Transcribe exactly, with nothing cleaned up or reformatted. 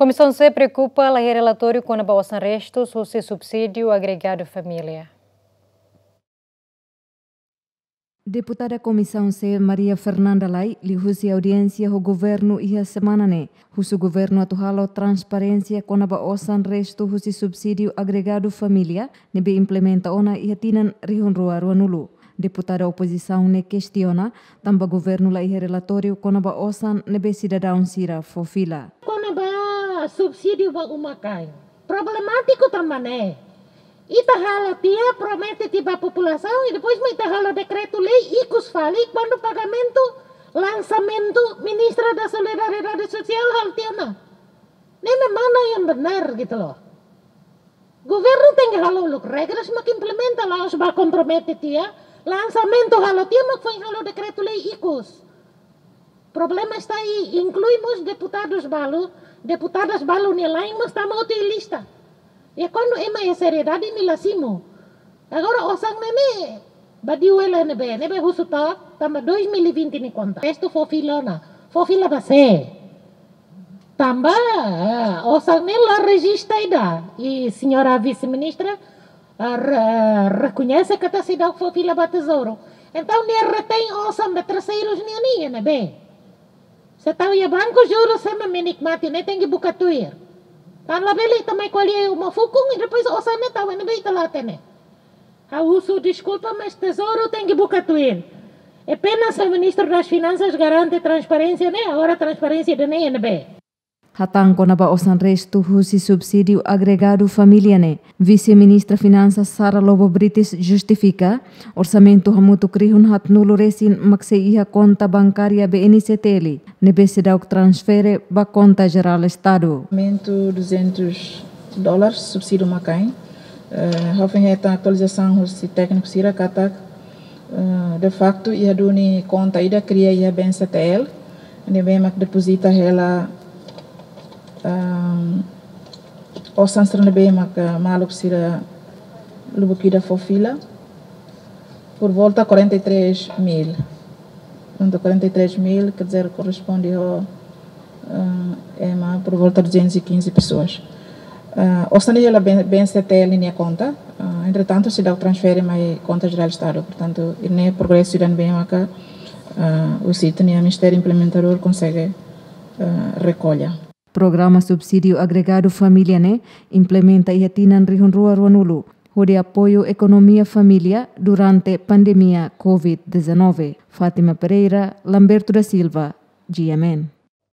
Komisaun C preokupa la iha relatóriu kona-ba osan restus husi subsídiu agregadu família. Deputada Komisaun C Maria Fernanda Lay liuhusi audiénsia ho governu iha semana ne'e, husu governu atu halo transparénsia kona-ba osan restu husi subsídiu agregadu família ne'ebé implementa ona iha tinan rihun rua ruanulu. Deputada opozisaun ne'e kestiona tanba governu la iha relatóriu kona-ba osan ne'ebé sidadaun sira fó fila. Kona-ba subsídiu ba uma-kain. Problemátiku tanba ne'e. Ita halo tiha, promete tiha ba populasaun, i depois mak ita halo dekretu-lei ikus fali kuandu pagamentu, lansamentu, Ministra da Solidariedade Sosiál halo tiha ona. Ne'e mana yang benar gitu loh. Governu tenke halo uluk regras mak implementa, la'ós ba kompromete tiha, lansamentu halo tiha mak foin halo dekretu-lei ikus. Problema está aí, inklui mós deputadus balu, deputadas balu nia la'en mós tama hotu iha lista. I kuandu ema iha seriedade imi la simu. Agora osan ne'e ne'e, badiu hela ne'ebé, ne'ebé husu to'ok, tanba dois mil e vinte nia konta. Restu fó fila ona, fó fila ba sé? Tanba, eh, osan ne'e la rejista ida. I señora vise-ministra, eh, re-, rekoñese katak seidauk fó fila ba Tezouru. Entaun, nia retein osan ba terseirus nian iha ne'ebé? Se tau iha banku, juru sema menikmati, ne'e tenke buka tuir. Tan labele ita mai ko'alia iha uma fukun, i depois osan ne'e tau iha ne'ebé ita la hatene. Ha'u husu deskulpa, mas Tezouru tenke buka tuir. É pena se Ministru das Finansas garante transparénsia ne'e, agora transparénsia ida-ne'e iha ne'ebé? Hatán kona-ba osan restu husi subsídiu agregadu família ne'e, Vise-Ministra Finansas Sara Lobo Brites justifika, orsamentu hamutuk rihun haatnulu resin mak sei iha konta bankária B N C T L, ne'ebé seidauk transfere ba konta jerál Estadu. Orsamentu duzentos dólares, subsídiu uma-kain. Eh, ha'u foin hetan atualizasaun husi tékniku sira katak, eh, de facto, iha duni konta ida kria iha B N C T L, ne'ebé mak depozita hela, ehm, osan sira ne'ebé mak, eh, maluk sira lubuk ida fó fila, por volta quarenta e três mil. Portanto, quarenta e três mil, quer dizer, corresponde ao, eh, ema por volta de duzentas e quinze pessoas. Eh, osan ne'e hela B-, B N C T L nia konta, eh, entretantu, seidauk transfere mai konta jerál Estadu. Portanto, ne'e progresu ida ne'ebé maka, eh, husi ita-nia Ministériu Implementadór konsege, eh, rekolla. Programa Subsídiu Agregadu Família ne'e implementa iha tinan rihun rua ruanulu, hodi apoiu ekonomia família durante pandemia covid dezanove. Fátima Pereira, Lamberto da Silva, G M N.